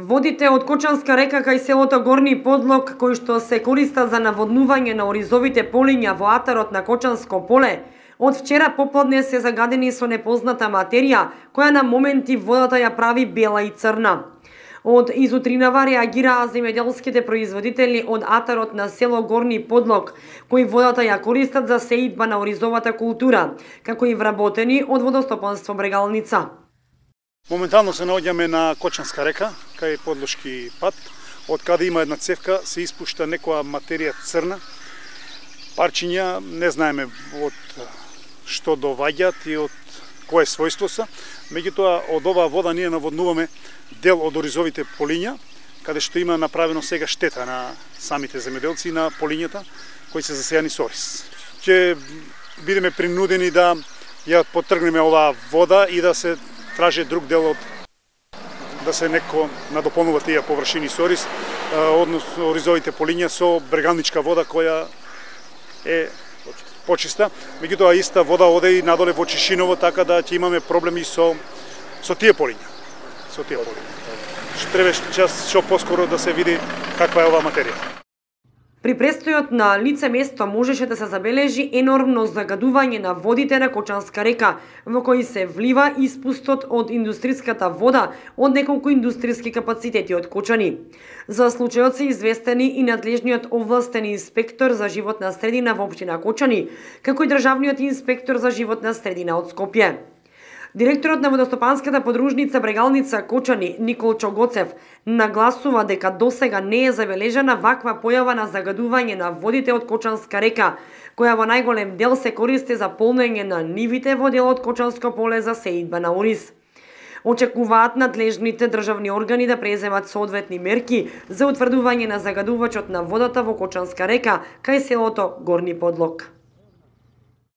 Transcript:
Водите од Кочанска река кај селото Горни Подлог, кои што се користат за наводнување на оризовите полиња во атарот на Кочанско поле, од вчера попладне се загадени со непозната материја, која на моменти водата ја прави бела и црна. Од изутринава реагираа земјоделските производители од атарот на село Горни Подлог, кои водата ја користат за сеидба на оризовата култура, како и вработени од водостопанство Брегалница. Моментално се наоѓаме на Кочанска река, кај подлошки пат, од каде има една цевка, се испушта некоја материја црна, парчиња, не знаеме од што доваѓаат и од кое својство се. Меѓутоа, од оваа вода ние наводнуваме дел од оризовите полиња, каде што има направено сега штета на самите земјоделци и на полињата кои се засејани со ориз. Ќе бидеме принудени да ја потргнеме оваа вода и да се тражи друг дел од да се некој надополнува тие површини со ориз, односно оризовите полиња со брегалничка вода која е почиста. Меѓутоа иста вода оде и надоле во Чишиново, така да ќе имаме проблеми со тие полиња. Со тие полиња. Треба што поскоро да се види каква е оваа материја. При престојот на лице место можеше да се забележи енормно загадување на водите на Кочанска река, во кои се влива испустот од индустриската вода од неколку индустријски капацитети од Кочани. За случајот се известени и надлежниот овластен инспектор за животна средина во општина Кочани, како и државниот инспектор за животна средина од Скопје. Директорот на водостопанската подружница Брегалница Кочани Никол Чогоцев нагласува дека досега не е забележана ваква појава на загадување на водите од Кочанска река, која во најголем дел се користи за полнење на нивите во делот Кочанско поле за сеидба на ориз. Очекуваат надлежните државни органи да преземат соодветни мерки за утврдување на загадувачот на водата во Кочанска река кај селото Горни Подлог.